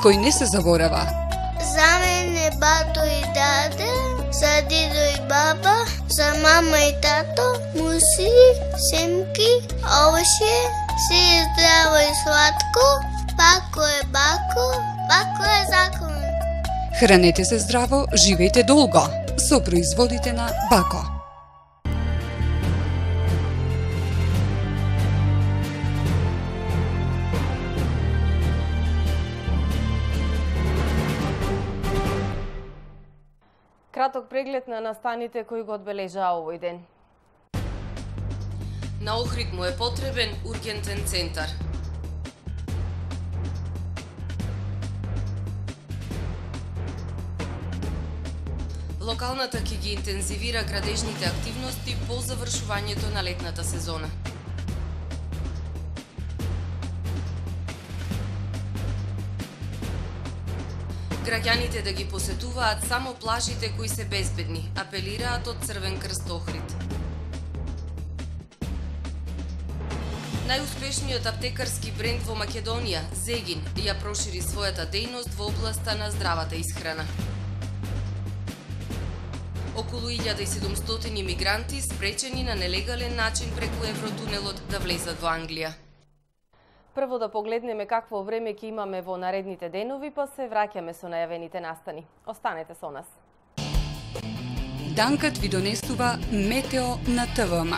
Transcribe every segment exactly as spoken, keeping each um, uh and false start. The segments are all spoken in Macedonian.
кој не се заборава. За мене бато и даде, за дидо и баба, за мама и тато, муси, семки, овоше, си е здраво и сладко, бако е бако, бако е закон. Хранете се здраво, живејте долго со производите на Бако. Краток преглед на настаните кои го одбележаа овој ден. На Охрид му е потребен ургентен центар. Локалната ќе ги интензивира градежните активности по завршувањето на летната сезона. Граѓаните да ги посетуваат само плажите кои се безбедни, апелираат од Црвен крст Охрид. Најуспешниот аптекарски бренд во Македонија, Зегин, ја прошири својата дејност во областа на здравата исхрана. Околу илјада и седумстотини мигранти спречени на нелегален начин преку Евротунелот да влезат во Англија. Прво да погледнеме какво време ќе имаме во наредните денови, па се враќаме со најавените настани. Останете со нас. Данкат ви донесува Метео на ТВМ.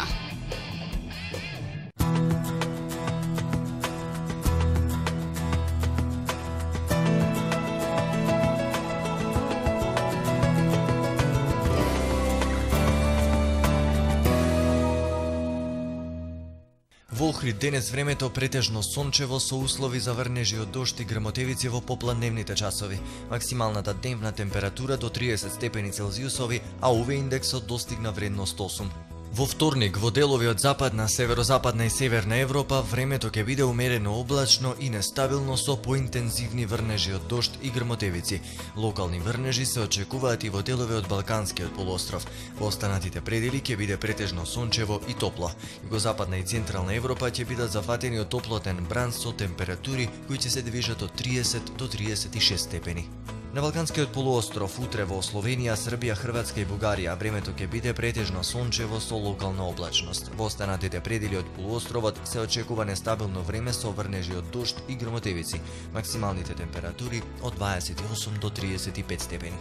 Во Охрид денес времето претежно сончево со услови за врнежи од дожд и грмотевици во попладневните часови. Максималната дневна температура до триесет степени Целзиусови, а УВ индексот достигна вредност осум. Во вторник, во делови од западна, северозападна и северна Европа, времето ќе биде умерено облачно и нестабилно со поинтензивни врнежи од дожд и грмотевици. Локални врнежи се очекуваат и во делови од Балканскиот полуостров. Во останатите предели ќе биде претежно сончево и топло. Југозападна и централна Европа ќе бидат зафатени од топлотен бран со температури кои ќе се движат од триесет до триесет и шест степени. На Балканскиот полуостров утре во Словенија, Србија, Хрватска и Бугарија времето ќе биде претежно сончево со локална облачност. Во останатите предели од полуостровот се очекува нестабилно време со врнежи од дожд и грмотевици. Максималните температури од дваесет и осум до триесет и пет степени.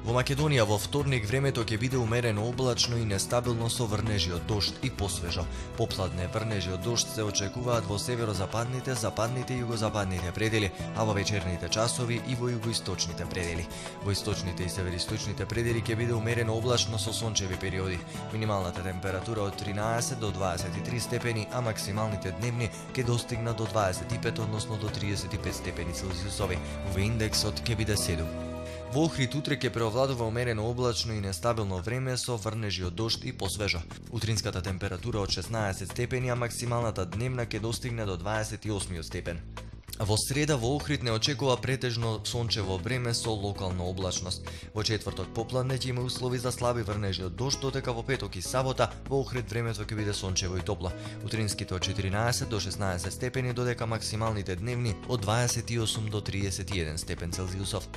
Во Македонија во вторник времето ќе биде умерено облачно и нестабилно со врнежи од дожд и посвежо. Попладне врнежи од дожд се очекуваат во северозападните, западните и југозападните предели, а во вечерните часови и во југоисточните предели. Во источните и североисточните предели ќе биде умерено облачно со сончеви периоди. Минималната температура од тринаесет до дваесет и три степени, а максималните дневни ќе достигнат до дваесет и пет, односно до триесет и пет степени Целзиусови. УВ индексот ќе биде седум. Во Охрид утре ќе преовладува умерено облачно и нестабилно време со врнежи од дожд и посвежо. Утринската температура од шеснаесет степени, а максималната дневна ќе достигне до дваесет и осум степен. Во среда во Охрид не очекува претежно сончево време со локална облачност. Во четврток попладне ќе има услови за слаби врнежи од дожд, додека во петок и сабота во Охрид времето ќе биде сончево и топло. Утринските од четиринаесет до шеснаесет степени, додека максималните дневни од дваесет и осум до триесет и еден степен Целзиусов.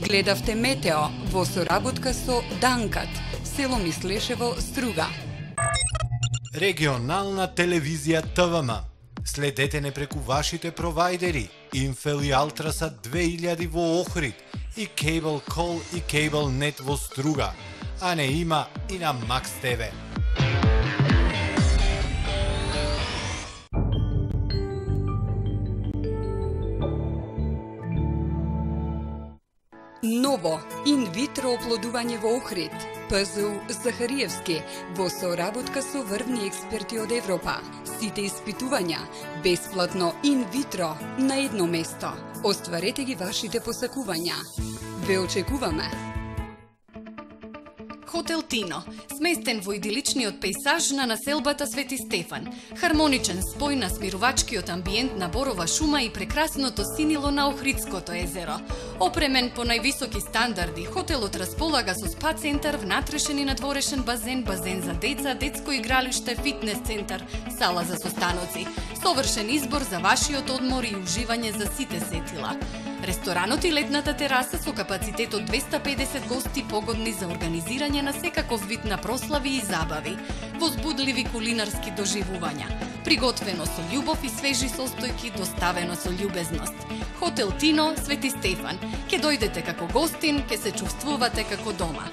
Гледавте Метео во соработка со Данкат, село Мислешево, Струга. Регионална телевизија ТВМ. Следете не преку вашите провайдери, Инфел и Алтрасат две илјади во Охрид и Cable Call и Cable Net во Струга, а не има и на Макс ТВ. Ново инвитро оплодување во Охрид. ПЗУ Захариевски во соработка со врвни експерти од Европа. Сите испитувања бесплатно инвитро на едно место. Остварете ги вашите посакувања. Ве очекуваме. Хотел Тино, сместен во идиличниот пејзаж на населбата Свети Стефан, хармоничен спој на смирувачкиот амбиент на борова шума и прекрасното синило на Охридското езеро. Опремен по највисоки стандарди, хотелот располага со спа центар, внатрешен и надворешен базен, базен за деца, детско игралиште, фитнес центар, сала за состаноци. Совршен избор за вашиот одмор и уживање за сите сетила. Ресторанот и летната тераса со капацитет од двеста педесет гости погодни за организирање на секаков вид на прослави и забави, возбудливи кулинарски доживувања, приготвено со љубов и свежи состојки, доставено со љубезност. Хотел Тино, Свети Стефан. Ке дојдете како гостин, ке се чувствувате како дома.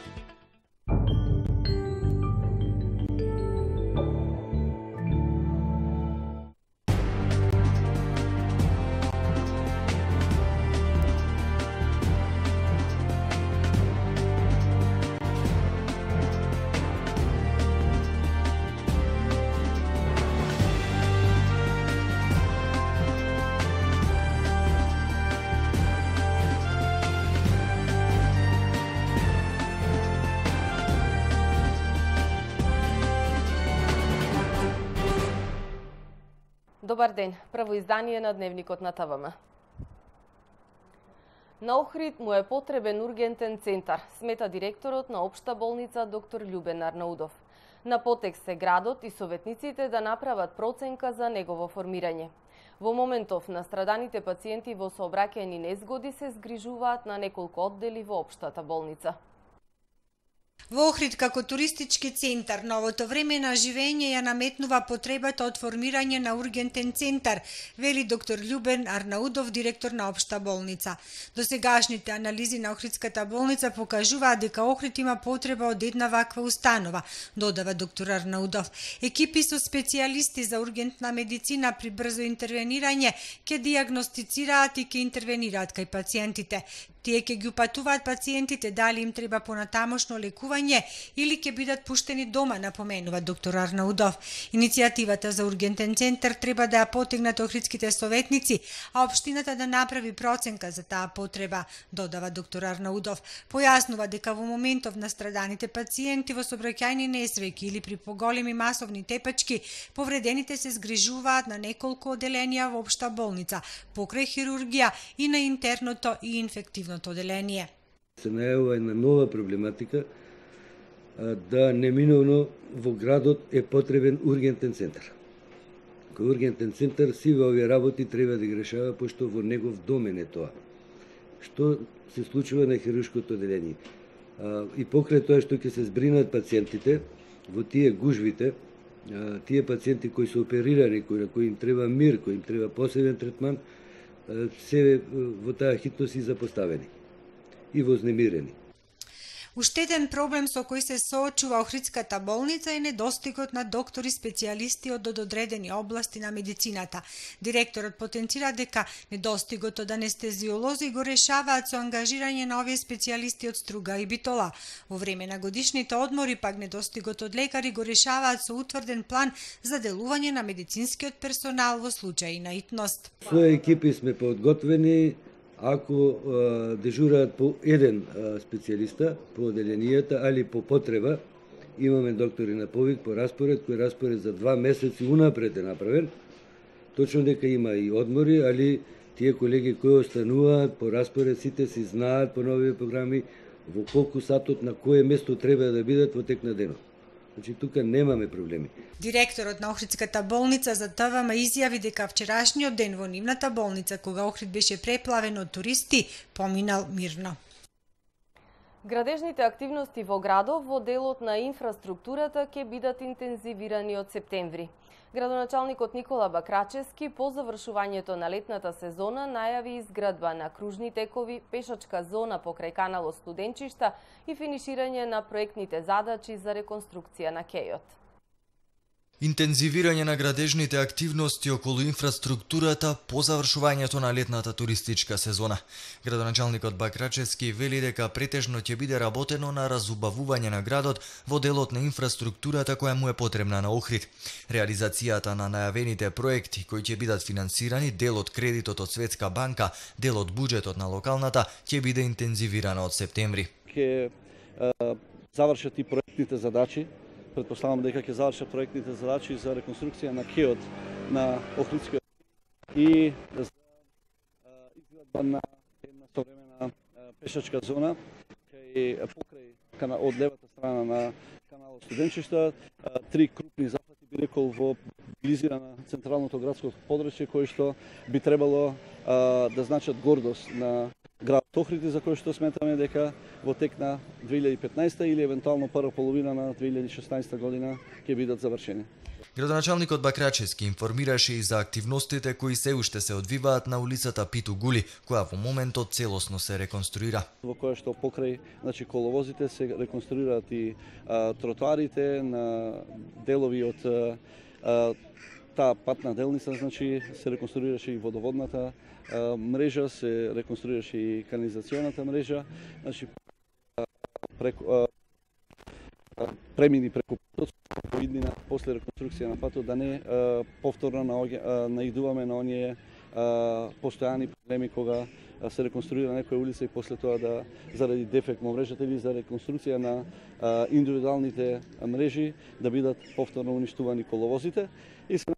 Добар ден, прво издание на Дневникот на ТВМ. На Охрид му е потребен ургентен центар, смета директорот на Општа болница доктор Љубен Арнаудов. На потек се градот и советниците да направат проценка за негово формирање. Во моментов настраданите пациенти во сообраќајни незгоди се згрижуваат на неколку оддели во Општата болница. Во Охрид како туристички центар, новото време на живење ја наметнува потребата од формирање на ургентен центар, вели доктор Љубен Арнаудов, директор на Општа болница. Досегашните анализи на Охридската болница покажуваат дека Охрид има потреба од една ваква установа, додава доктор Арнаудов. Екипи со специјалисти за ургентна медицина при брзо интервенирање ќе дијагностицираат и ќе интервенираат кај пациентите. Тие ќе ги упатуваат пациентите дали им треба понатамошно лекување или ќе бидат пуштени дома, напоменува доктор Арнаудов. Иницијативата за ургентен центар треба да ја потегнат охридските советници, а општината да направи проценка за таа потреба, додава доктор Арнаудов. Појаснува дека во моментов настраданите пациенти во сообраќајни несреќи или при поголеми масовни тепачки, повредените се згрижуваат на неколку оделенија во Општа болница, покрај хирургија и на интерното и инфективно оделение. Се најавува една нова проблематика, да неминовно во градот е потребен ургентен центар. Кој ургентен центар сиве овие работи треба да ги решава, пошто во негов домен е тоа. Што се случува на хируршкото оделение. И покрај тоа што ќе се збринат пациентите, во тие гужвите, тие пациенти кои се оперирани, кои, кои им треба мир, кои им треба посебен третман, се во таа хитност и запоставени и вознемирени. Уште еден проблем со кој се соочува Охридската болница е недостигот на доктори специјалисти од одредени области на медицината. Директорот потенцира дека недостигот од анестезиолози го решаваат со ангажирање на овие специјалисти од Струга и Битола. Во време на годишните одмори пак недостигот од лекари го решаваат со утврден план за делување на медицинскиот персонал во случаи на итност. Со екипи сме подготвени. Ако а, дежураат по еден а, специјалиста по оделенијата, али по потреба, имаме доктори на повик по распоред, кој распоред за два месеци унапред е направен. Точно дека има и одмори, али тие колеги кои остануваат по распоред, сите си знаат по нови програми во колку сатот на кое место треба да бидат во тек на денот. Значи, тука немаме проблеми. Директорот на Охридската болница за ТВМ изјави дека вчерашниот ден во нивната болница, кога Охрид беше преплавен од туристи, поминал мирно. Градежните активности во градов во делот на инфраструктурата ќе бидат интензивирани од септември. Градоначалникот Никола Бакрачевски по завршувањето на летната сезона најави изградба на кружни текови, пешачка зона покрај каналот Студенчишта и финиширање на проектните задачи за реконструкција на кејот. Интензивирање на градежните активности околу инфраструктурата по завршувањето на летната туристичка сезона. Градоначалникот Бакрачевски вели дека претежно ќе биде работено на разубавување на градот во делот на инфраструктурата која му е потребна на Охрид. Реализацијата на најавените проекти кои ќе бидат финансирани, дел од кредитот од Светска банка, дел од буџетот на локалната, ќе биде интензивирана од септември. Ке завршат и проектните задачи. Предпоставам дека ќе завршат проектните задачи за реконструкција на кеот на Охридскиот и за изградба на една современа пешачка зона кај покрај од левата страна на каналот Студенчишта, три крупни зафати би рекол во близина на централното градско подрачје кои што би требало а, да значат гордост на градот Охрид, за кој што сметаме дека во тек на две илјади и петнаесета или евентуално прва половина на две илјади и шеснаесета година ќе бидат завршени. Градоначалникот Бакрачевски информираше и за активностите кои се уште се одвиваат на улицата Питу Гули, која во моментот целосно се реконструира. Во која што покрај, значи, коловозите се реконструираат и а, тротоарите на делови од а, таа патна делница, значи се реконструираше и водоводната а, мрежа, се реконструираше и канализационата мрежа, значи преку а, премини преку патот во иднина после реконструкција на патот, да не а, повторно наидуваме на оние а, постојани проблеми кога а, се реконструира некоја улица и после тоа да заради дефект во мрежата или за реконструкција на а, индивидуалните мрежи да бидат повторно уништувани коловозите и се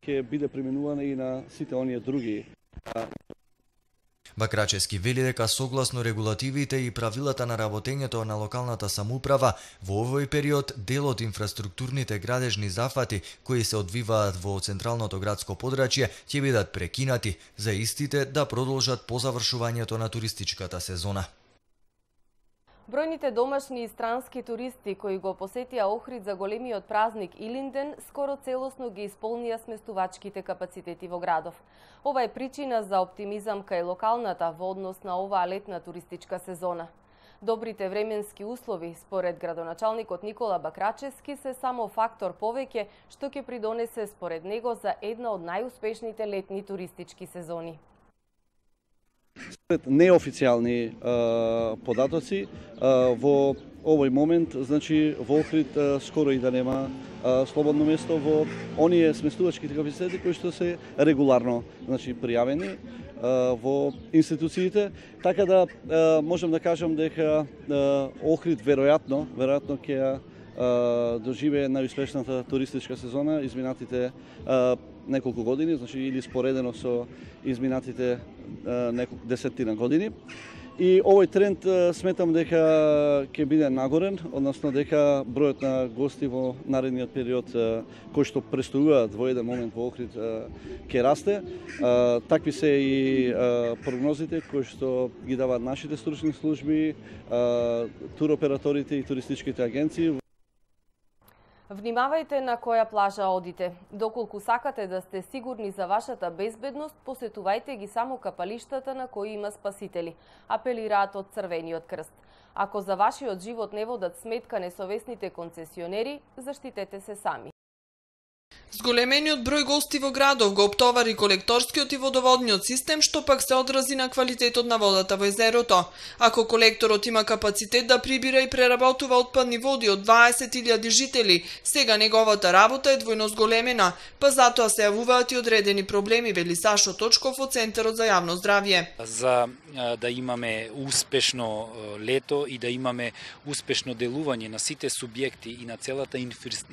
ќе биде применувана и на сите оние други. Бакрачевски вели дека согласно регулативите и правилата на работењето на локалната самоуправа, во овој период дел од инфраструктурните градежни зафати кои се одвиваат во централното градско подрачје ќе бидат прекинати, за истите да продолжат по завршувањето на туристичката сезона. Бројните домашни и странски туристи кои го посетија Охрид за големиот празник Илинден скоро целосно ги исполнија сместувачките капацитети во градов. Ова е причина за оптимизам кај локалната во однос на оваа летна туристичка сезона. Добрите временски услови, според градоначалникот Никола Бакрачевски, се само фактор повеќе што ќе придонесе според него за една од најуспешните летни туристички сезони. Според неофицијални а, податоци, а, во овој момент, значи во Охрид а, скоро и да нема а, слободно место во оние сместувачките капацитети кои што се регуларно, значи, пријавени а, во институциите, така да а, можам да кажам дека а, Охрид веројатно, веројатно ќе доживее најуспешната туристичка сезона изминатите а, неколку години, значи или споредено со изминатите а, неколку десетина години. И овој тренд а, сметам дека ќе биде нагорен, односно дека бројот на гости во наредниот период а, кои што престојуваат во еден момент во Охрид а, ќе расте. А, такви се и а, прогнозите кои што ги даваат нашите стручни служби, а, туроператорите и туристичките агенции. Внимавајте на која плажа одите. Доколку сакате да сте сигурни за вашата безбедност, посетувајте ги само капалиштата на кои има спасители, апелираат од Црвениот крст. Ако за вашиот живот не водат сметка несовесните концесионери, заштитете се сами. Зголемениот број гости во градов го оптовари колекторскиот и водоводниот систем, што пак се одрази на квалитетот на водата во езерото. Ако колекторот има капацитет да прибира и преработува отпадни води од дваесет илјади жители, сега неговата работа е двојно зголемена, па затоа се јавуваат и одредени проблеми, вели Сашо Точков од Центарот за јавно здравје. За да имаме успешно лето и да имаме успешно делување на сите субјекти и на целата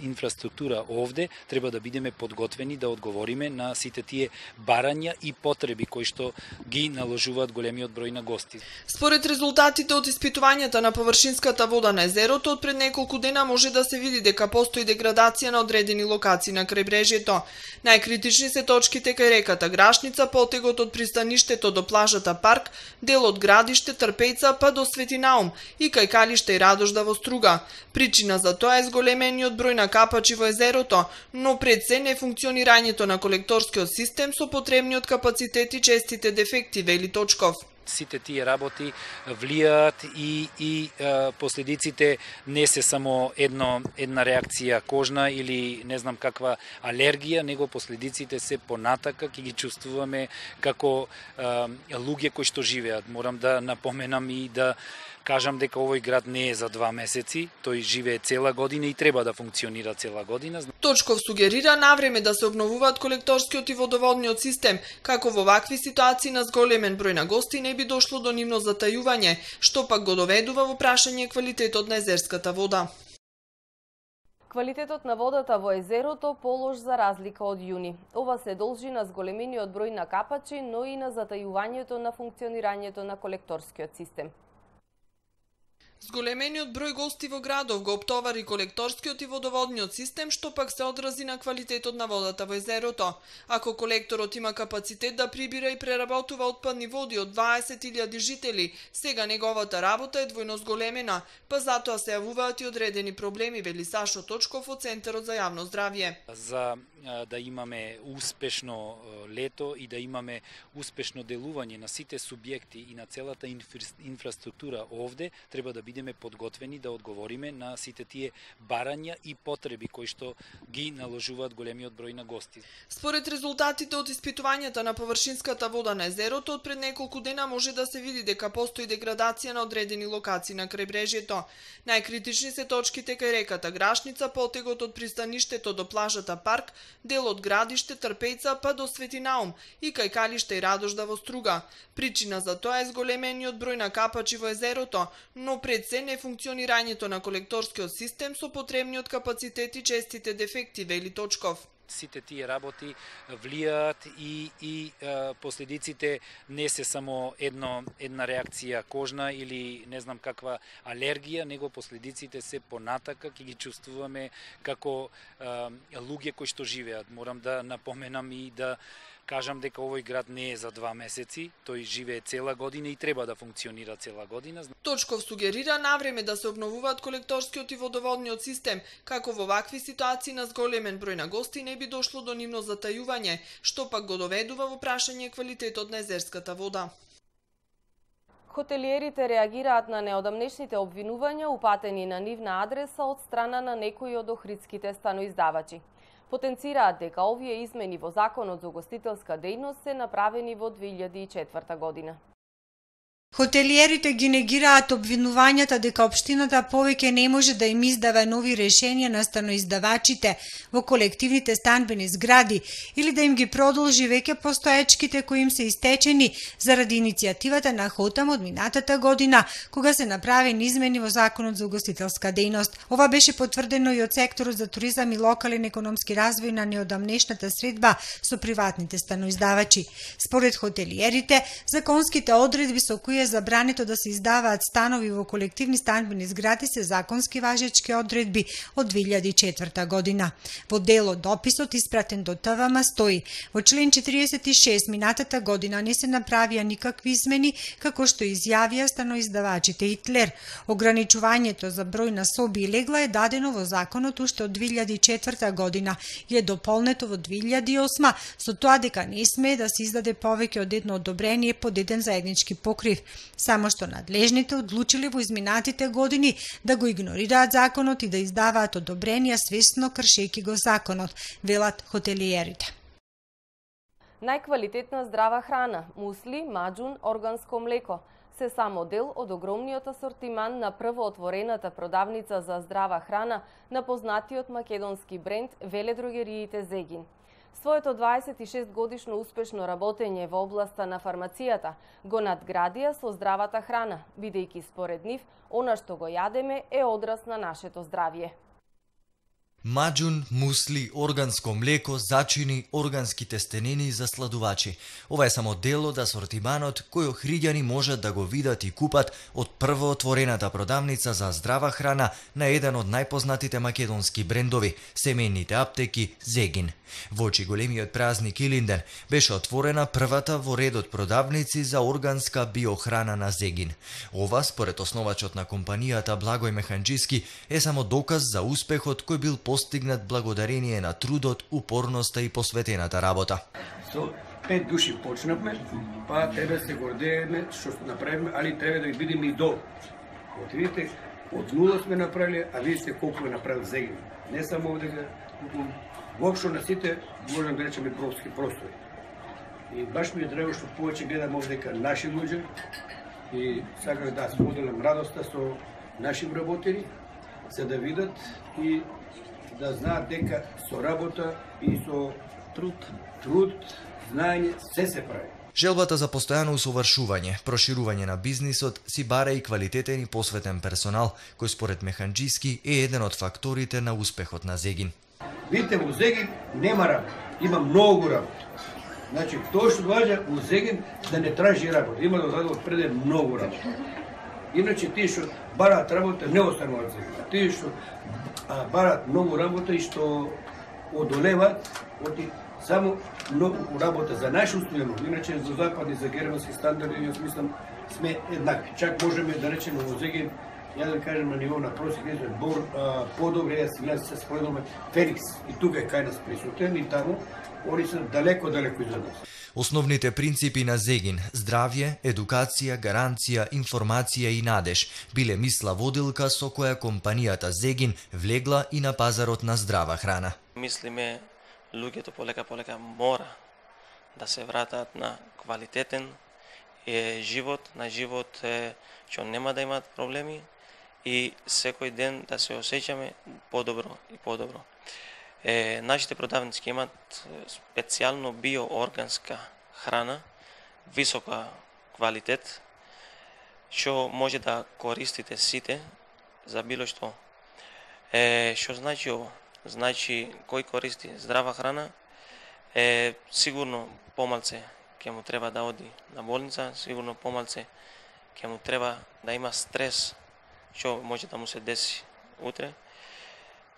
инфраструктура овде, треба да бидеме подготвени да одговориме на сите тие барања и потреби кои што ги наложуваат големиот број на гости. Според резултатите од испитувањата на површинската вода на езерото, од пред неколку дена може да се види дека постои деградација на одредени локации на крајбрежјето. Најкритични се точките кај реката Грашница, потегот од пристаништето до плажата Парк, дел од градиште Трпејца па до Свети Наум и кај Калиште и Радожда во Струга. Причина за тоа е зголемениот број на капачи во езерото, но пред се нефункционирањето на колекторскиот систем со потребниот капацитет и честите дефекти, вели Точков. Сите тие работи влијаат и и е, последиците не се само едно една реакција кожна или не знам каква алергија, него последиците се понатака ќе ги чувствуваме како е, луѓе кои што живеат. Морам да напоменам и да кажам дека овој град не е за два месеци, тој живее цела година и треба да функционира цела година. Точков сугерира навреме да се обновуваат колекторскиот и водоводниот систем, како во вакви ситуации на зголемен број на гости не би дошло до нивно затајување, што пак го доведува во прашање квалитетот на езерската вода. Квалитетот на водата во езерото полош за разлика од јуни. Ова се должи на зголемениот број на капачи, но и на затајувањето на функционирањето на колекторскиот систем. Зголемениот број гости во градов го оптовари колекторскиот и водоводниот систем, што пак се одрази на квалитетот на водата во езерото. Ако колекторот има капацитет да прибира и преработува отпадни води од дваесет илјади жители, сега неговата работа е двојно зголемена, па затоа се јавуваат и одредени проблеми, вели Сашо Точков од Центарот за јавно здравје. За да имаме успешно лето и да имаме успешно делување на сите субјекти и на целата инфраструктура овде, треба да бидеме подготвени да одговориме на сите тие барања и потреби кои што ги наложуваат големиот број на гости. Според резултатите од испитувањата на површинската вода на езерото, од пред неколку дена може да се види дека постои деградација на одредени локации на крајбрежјето. Најкритични се точките кај реката Грашница, потегот од пристаништето до плажата Парк, дел од градиште Трпејца па до Свети Наум и кај Калиште и Радожда во Струга. Причина за тоа е зголемениот број на капачи во езерото, но пред се нефункционирањето на колекторскиот систем со потребниот капацитет и честите дефекти, вели Точков. Сите тие работи влијаат и и е, последиците не се само едно една реакција кожна или не знам каква алергија, него последиците се понатака ќе ги чувствуваме како е, луѓе кои што живеат. Морам да напоменам и да кажам дека овој град не е за два месеци, тој живее цела година и треба да функционира цела година. Точков сугерира навреме да се обновуваат колекторскиот и водоводниот систем, како во вакви ситуации на зголемен број на гости не би дошло до нивно затајување, што пак го доведува во прашање квалитетот на езерската вода. Хотелиерите реагираат на неодамнешните обвинувања упатени на нивна адреса од страна на некои од охридските станоиздавачи. Потенцираат дека овие измени во Законот за угостителска дејност се направени во две илјади и четврта година. Хотелиерите ги негираат обвинувањата дека општината повеќе не може да им издава нови решенија на станоиздавачите во колективните станбени згради или да им ги продолжи веќе постоечките кои им се истечени заради иницијативата на Хотам од минатата година, кога се направени измени во Законот за угостителска дејност. Ова беше потврдено и од секторот за туризам и локален економски развој на неодамнешната средба со приватните станоиздавачи. Според хотелиерите, законските одредби со кои е забрането да се издаваат станови во колективни станбени згради се законски важечки одредби од две илјади и четврта година. Во дел од дописот испратен до Т В М стои: во член четириесет и шест минатата година не се направија никакви измени, како што изјавија станоиздавачите Итлер. Ограничувањето за број на соби и легла е дадено во законот уште од две илјади и четврта година и е дополнето во две илјади и осма со тоа дека не смее да се издаде повеќе од едно одобрение под еден заеднички покрив. Само што надлежните одлучиле во изминатите години да го игнорираат законот и да издаваат одобренија свесно кршејќи го законот, велат хотелиерите. Најквалитетна здрава храна, мусли, маџун, органско млеко се само дел од огромниот асортиман на првоотворената продавница за здрава храна на познатиот македонски бренд веледрогериите Зегин. Своето дваесет и шест годишно успешно работење во областа на фармацијата го надградија со здравата храна, бидејќи според нив, она што го јадеме е одраз на нашето здравје. Маџун, мусли, органско млеко, зачини, органски тестенини за сладувачи. Ова е само дел од асортиманот кој охриѓани можат да го видат и купат од првоотворената продавница за здрава храна на еден од најпознатите македонски брендови, семејните аптеки Зегин. Во очи големиот празник Илинден беше отворена првата во редот продавници за органска биохрана на Зегин. Ова, според основачот на компанијата Благој Механџиски, е само доказ за успехот кој бил постигнат благодарение на трудот, упорноста и посветената работа. Со пет души почнавме, па треба се гордееме што направиме, али треба да ги бидеме и долу. Вот видите, од нула сме направили, а видите колку е направил Зегин. Не само овде, воопшто на сите, можам да речеме, европски простори. И баш ми е драго што повеќе гледам овде дека наши луѓе и саках да споделам радоста со наши вработени, за да видат и да знаат дека со работа и со труд, труд, знаење се се прави. Желбата за постојано усовршување, проширување на бизнисот си бара и квалитетен и посветен персонал, кој според Механџиски е еден од факторите на успехот на Зегин. Видите, во Зегин нема работа, има многу работа. Значи, тоа што важа во Зегин да не тражи работа, има да одредот преде многу работа. Иначе тие што бараат работа не остануваат Зегин. Тие што бараат многу работа и што одолеваат, оти само многу работа за наше устојано, иначе за западни, за германски стандарди, јас мислам, сме еднакви. Чак можеме да речеме во Зегин, ја да кажем на ниво на просек, ние сме бор, подобре, јас сега се споредуваме Феникс, и тука е кај нас присутен, и таму, они се далеко, далеко изад нас. Основните принципи на Зегин – здравје, едукација, гаранција, информација и надеж – биле мисла водилка со која компанијата Зегин влегла и на пазарот на здрава храна. Мислиме, луѓето полека полека мора да се вратат на квалитетен е, живот, на живот е, што нема да имаат проблеми и секој ден да се осеќаме подобро и подобро. Е, нашите продавници имаат специјално биоорганска храна, висока квалитет, што може да користите сите за било што. Е, што значи ово? Значи, кој користи здрава храна, е сигурно помалце ќе му треба да оди на болница, сигурно помалце ќе му треба да има стрес, што може да му се деси утре.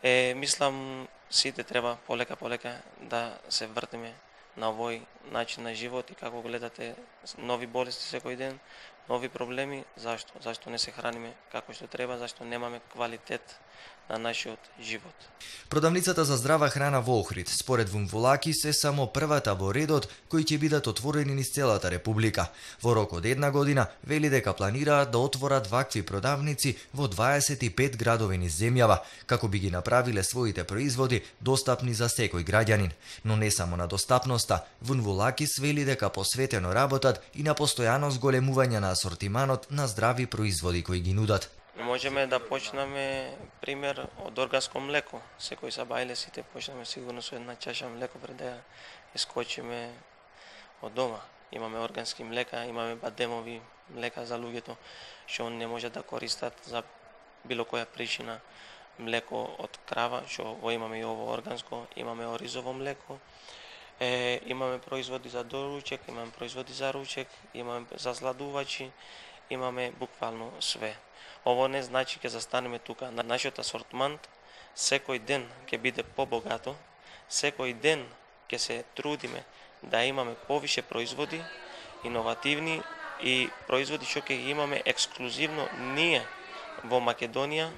Е, мислам, сите треба полека полека да се вртиме на овој начин на живот и како гледате нови болести секој ден, нови проблеми. Зашто? Зашто не се храниме како што треба, зашто немаме квалитет на нашиот живот. Продавницата за здрава храна во Охрид, според Вунволакис, е само првата во редот кои ќе бидат отворени низ целата република. Во рок од една година вели дека планираат да отворат вакви продавници во дваесет и пет градови низ земјава, како би ги направиле своите производи достапни за секој граѓанин. Но не само на достапноста, Вунволакис вели дека посветено работат и на постојано зголемување на асортиманот на здрави производи кои ги нудат. Можеме да почнеме пример од органско млеко. Секој сабајле сите почнеме сигурно со една чаша млеко пред да искочиме од дома. Имаме органски млека, имаме бадемови млека за луѓето што не може да користат за било која причина млеко од крава, што го имаме и ово органско, имаме оризово млеко. Е, имаме производи за доручек, имаме производи за ручек, имаме за сладувачи, имаме буквално све. Ово не значи ќе застанеме тука. На нашиот асортимент секој ден ќе биде побогато, секој ден ќе се трудиме да имаме повише производи, иновативни и производи што ќе ги имаме ексклузивно ние во Македонија,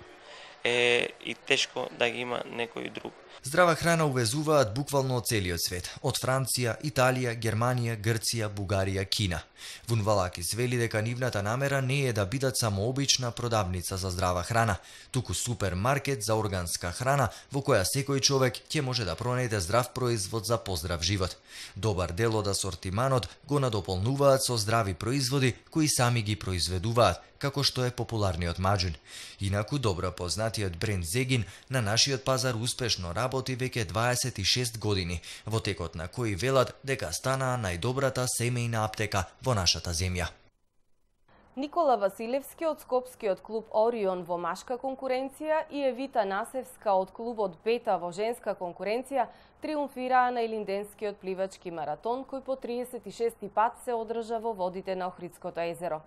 е и тешко да ги има некој друг. Здрава храна увезуваат буквално од целиот свет, од Франција, Италија, Германија, Грција, Бугарија, Кина. Вунволакис вели дека нивната намера не е да бидат само обична продавница за здрава храна, туку супермаркет за органска храна во која секој човек ќе може да пронајде здрав производ за поздрав живот. Добар дел од асортиманот го надополнуваат со здрави производи кои сами ги произведуваат, како што е популарниот маџун. Инаку добро познатиот бренд Зегин на нашиот пазар успешно работи веќе дваесет и шест години, во текот на кои велат дека станаа најдобрата семејна аптека во нашата земја. Никола Василевски од скопскиот клуб Орион во машка конкуренција и Евита Насевска од клубот Бета во женска конкуренција триумфираа на Илинденскиот пливачки маратон кој по триесет и шести пат се одржа во водите на Охридското езеро.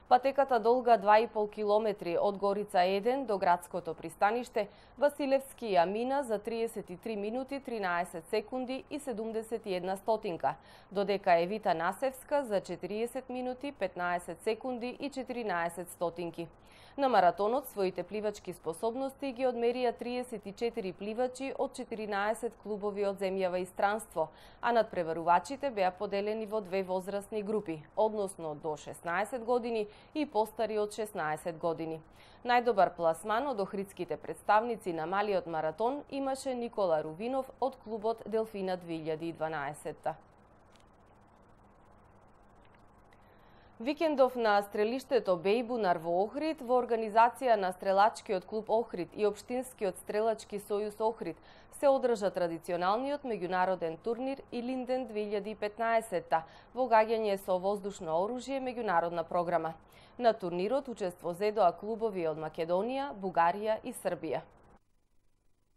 Патеката долга два и пол километри од Горица еден до градското пристаниште, Василевски ја мина за триесет и три минути тринаесет секунди и седумдесет и една стотинка, додека Евита Насевска за четириесет минути петнаесет секунди и четиринаесет стотинки. На маратонот своите пливачки способности ги одмерија триесет и четири пливачи од четиринаесет клубови од земјава и странство, а надпреварувачите беа поделени во две возрастни групи, односно до шеснаесет години и постари од шеснаесет години. Најдобар пласман од охридските представници на малиот маратон имаше Никола Рувинов од клубот Делфина две илјади и дванаесет. Викендов на стрелиштето Бејбунар во Охрид во организација на Стрелачкиот клуб Охрид и Општинскиот стрелачки сојуз Охрид се одржа традиционалниот меѓународен турнир Илинден две илјади и петнаесетта во гаѓање со воздушно оружје меѓународна програма. На турнирот учество зедоа клубови од Македонија, Бугарија и Србија.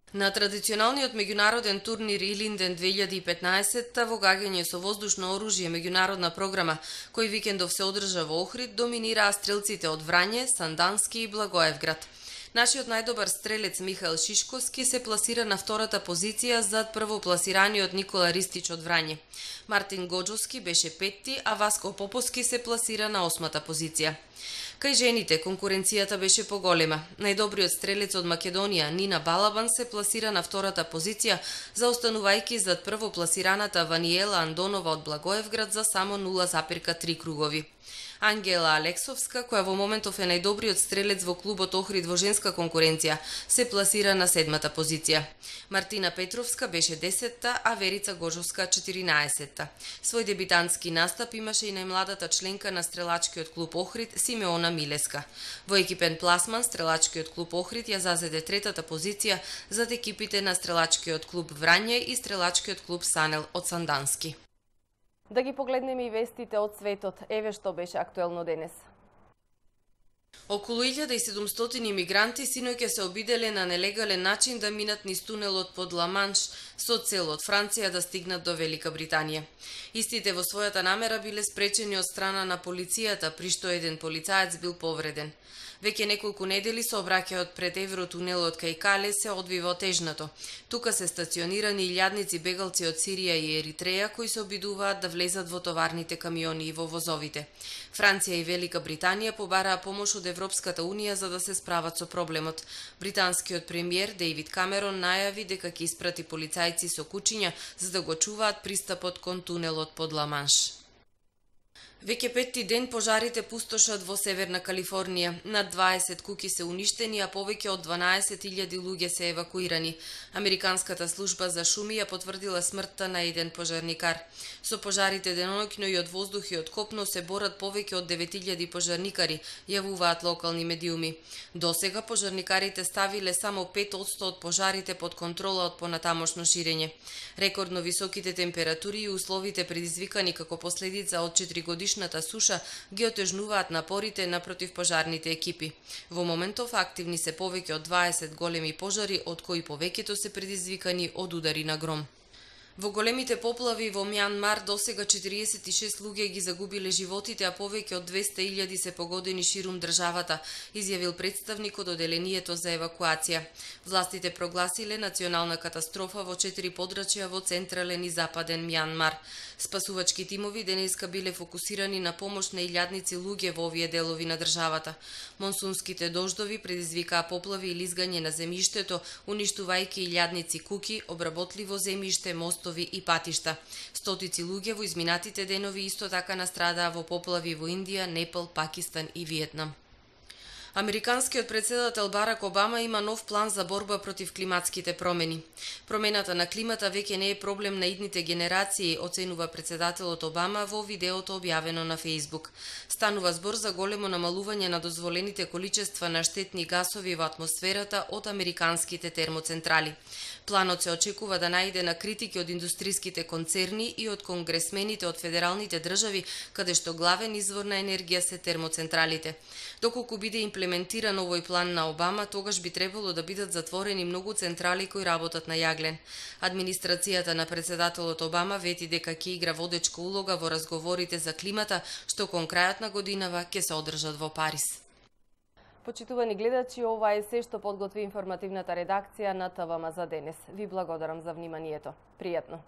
На традиционалниот меѓународен турнир Илинден две илјади и петнаесетта во гаѓање со воздушно оружје меѓународна програма, кој викендов се одржа во Охрид, доминираа стрелците од Врање, Сандански и Благоевград. Нашиот најдобар стрелец Михаил Шишковски се пласира на втората позиција зад првопласираниот Никола Ристич од Врање. Мартин Гоџовски беше петти, а Васко Поповски се пласира на осмата позиција. Кај жените конкуренцијата беше поголема. Најдобриот стрелец од Македонија Нина Балабан се пласира на втората позиција, заостанувајќи зад првопласираната Ваниела Андонова од Благоевград за само нула запирка три кругови. Ангела Алексовска, која во моментов е најдобриот стрелец во клубот Охрид во женска конкуренција, се пласира на седмата позиција. Мартина Петровска беше десетта, а Верица Гожовска четиринаесетта. Свој дебитантски настап имаше и најмладата членка на стрелачкиот клуб Охрид Симеона Милеска. Во екипен пласман стрелачкиот клуб Охрид ја зазеде третата позиција зад екипите на стрелачкиот клуб Врање и стрелачкиот клуб Санел од Сандански. Да ги погледнеме и вестите од светот. Еве што беше актуелно денес. Околу илјада и седумстотини мигранти синоќа се обиделе на нелегален начин да минат низ тунелот под Ла-Манш со цел од Франција да стигнат до Велика Британија. Истите во својата намера биле спречени од страна на полицијата, при што еден полицаец бил повреден. Веќе неколку недели сообраќајот пред Евротунелот кај Кале се одвива отежнато. Тука се стационирани илјадници бегалци од Сирија и Еритреја кои се обидуваат да влезат во товарните камиони и во возовите. Франција и Велика Британија побараа помош од Европската Унија за да се справат со проблемот. Британскиот премиер Дејвид Камерон најави дека ќе испрати полицајци со кучиња за да го чуваат пристапот кон тунелот под Ла-Манш. Веќе петти ден пожарите пустошат во Северна Калифорнија. Над дваесет куќи се уништени, а повеќе од дванаесет илјади луѓе се евакуирани. Американската служба за шуми ја потврдила смртта на еден пожарникар. Со пожарите деноноќно и од воздух и од копно се борат повеќе од девет илјади пожарникари, јавуваат локални медиуми. Досега пожарникарите ставиле само пет одсто од пожарите под контрола од понатамошно ширење. Рекордно високите температури и условите предизвикани како последица од четиригодишната суша ги отежнуваат напорите на противпожарните екипи. Во моментов активни се повеќе од дваесет големи пожари, од кои повеќето се предизвикани од удари на гром. Во големите поплави во Мјанмар досега четириесет и шест луѓе ги загубиле животите, а повеќе од двесте илјади се погодени ширум државата, изјавил представник од оделението за евакуација. Властите прогласиле национална катастрофа во четири подрачја во централен и западен Мјанмар. Спасувачки тимови денеска биле фокусирани на помош на илјадници луѓе во овие делови на државата. Монсунските дождови предизвикаа поплави и лизгање на земјиштето, уништувајќи илјадници куќи, обработливо земјиште, мостови и патишта. Стотици луѓе во изминатите денови исто така настрадаа во поплави во Индија, Непал, Пакистан и Виетнам. Американскиот претседател Барак Обама има нов план за борба против климатските промени. Промената на климата веќе не е проблем на идните генерации, оценува претседателот Обама во видеото објавено на Facebook. Станува збор за големо намалување на дозволените количества на штетни гасови во атмосферата од американските термоцентрали. Планот се очекува да најде на критики од индустриските концерни и од конгресмените од федералните држави, каде што главен извор на енергија се термоцентралите. Доколку биде имплементиран овој план на Обама, тогаш би требало да бидат затворени многу централи кои работат на јаглен. Администрацијата на претседателот Обама вети дека ќе игра водечка улога во разговорите за климата, што кон крајот на годинава ќе се одржат во Париз. Почитувани гледачи, ова е се што подготви информативната редакција на ТВМ за денес. Ви благодарам за вниманието. Пријатно!